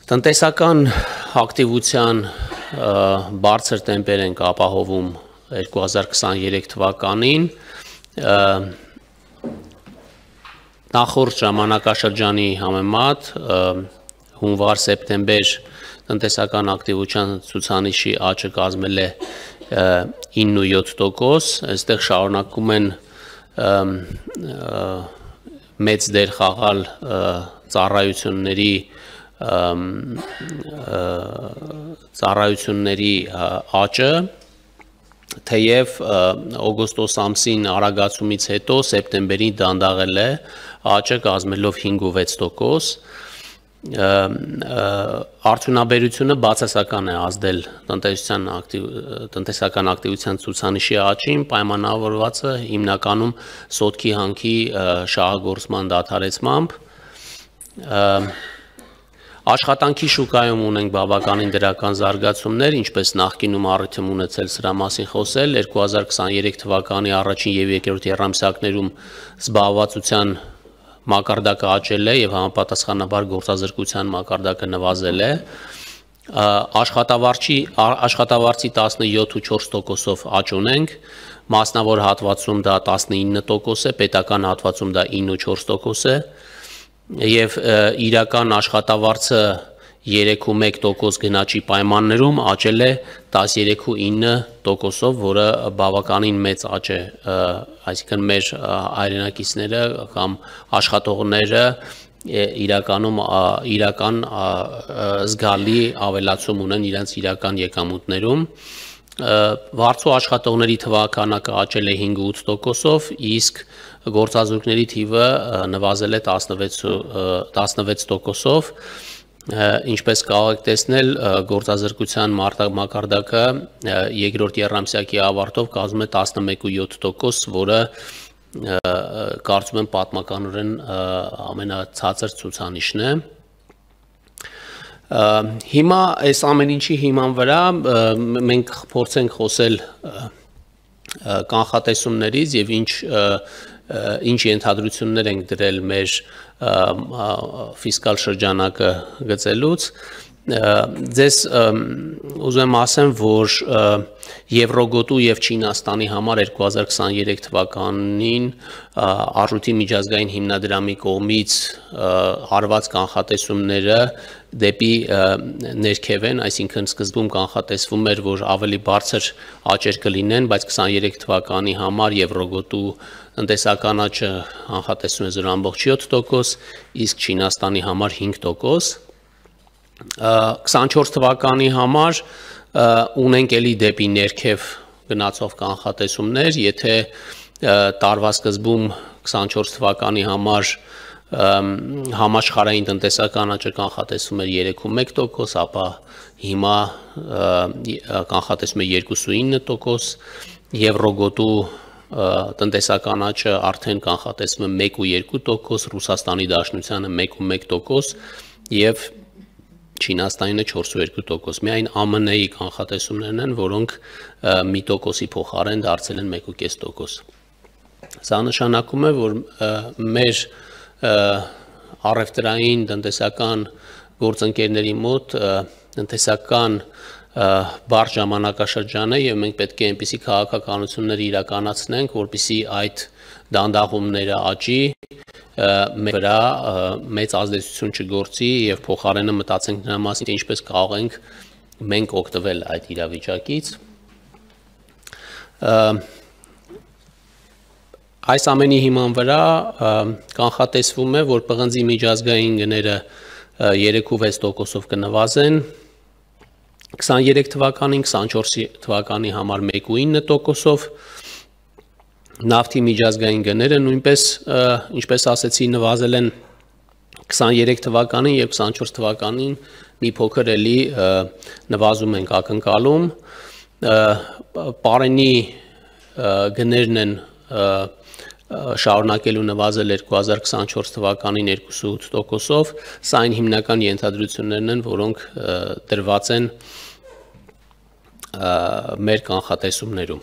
Տնտեսական ակտիվության բարձր տեմպեր ենք ապահովում 2023 թվականին, նախորդ ժամանակաշրջանի համեմատ հունվար-սեպտեմբեր տնտեսական ակտիվության ցուցանիշի աճը կազմել է 9.7%, այստեղ շարունակում են մեծ դեր խաղալ ծառայությունների աճը, թեև օգոստոս ամսին արագացումից հետո սեպտեմբերին դանդաղել է աճը կազմելով 5.6%, արդյունաբերությունը բացասական է ազդել տնտեսական ակտիվության ցուցանիշի աճին, պայմանավորված է հիմնականում սոտքի հանքի շահագործման դադարեցմամբ, աշխատանքի շուկայում ունենք բավականին դրական զարգացումներ, ինչպես նախկինում առիթ եմ ունեցել սրա մասին խոսել, 2023 թվականի առաջին և երկրորդ եռամսյակներում զբաղվածության մակարդակը աճել է և համապատասխանաբար գործազրկության մակարդակը նվազել է, աշխատավարձի 17.4%-ով աճ ունենք, մասնավոր հատվածում դա 19% է, պետական հատվածում դա 9.4% է, և իրական աշխատավարձը 3.1% գնաճի պայմաններում աճել է 13.9%-ով, որը բավականին մեծ աճ է, այսինքն մեր հայրենակիցները կամ աշխատողները իրական զգալի ավելացում ունեն իրենց իրական եկամուտներում, վարձու աշխատողների թվաքանակը աճել է 5.8%-ով, իսկ գործազուրկների թիվը նվազել է 16%-ով, ինչպես կարող եք տեսնել, գործազրկության մակարդակը երկրորդ եռամսյակի ավարտով կազմում է 11.7%, որը կարծում եմ պատմականորեն ամենացածր ցուցանիշն է։ Հիմա այս ամեն ինչի հիման վրա մենք փորձենք խոսել կանխատեսումներից և ինչ ենթադրություններ ենք դրել մեր ֆիսկալ շրջանակը գծելուց, ձեզ ուզում եմ ասեմ, որ Եվրոգոտու և Չինաստանի համար 2023 թվականին Արժույթի միջազգային հիմնադրամի կողմից արված կանխատեսումները դեպի ներքև են, այսինքն սկզբում կանխատեսվում էր, որ ավելի բարձր աճեր կլինեն, բայց 23 թվականի համար Եվրոգոտու տնտեսական աճը կանխատեսում է 0.7%, իսկ Չինաստանի համար 5%, 24 թվականի համար ունենք էլի դեպի ներքև գնացող կանխատեսումներ, եթե տարվա սկզբում 24 թվականի համար համաշխարհային տնտեսական աճը կանխատեսվում էր 3.1%, ապա հիմա կանխատեսվում է 2.9%, Եվրոգոտու տնտեսական աճը արդեն կանխատեսվում է 1.2%, Ռուսաստանի Դաշնությանը 1.1% և Չինաստանինը 4.2%, միայն ԱՄՆ-ի կանխատեսումներն են, որոնք մի տոկոսի փոխարեն դարձել են 1.5%։ Սա նշանակում է, որ մեր առևտրային տնտեսական գործընկերների մոտ տնտեսական բարդ ժամանակաշրջան է և մենք պետք է այնպիսի քաղաքականություններ իրականացնենք, որպեսզի այդ դանդաղումները աճի, մեր վրա մեծ ազդեցություն չգործի և փոխարենը մտածենք նրա մասին, թե ինչպես կարող ենք մենք օգտվել այդ իրավիճակից։ Այս ամենի հիման վրա կանխատեսվում է, որ պղնձի միջազգային գները 3.6%-ով կնվազեն, 23 թվականին, 24 թվականի համար 1.9%-ով, նավթի միջազգային գները նույնպես, ինչպես ասեցի, նվազել են 23 թվականին և 24 թվականին մի փոքր էլի նվազում ենք ակնկալում, պարենի գներն են շարունակելու նվազել 2024 թվականին 2.8%-ով, սա այն հիմնական ենթադրություններն են, որոնք դրված են մեր կանխատեսումներում։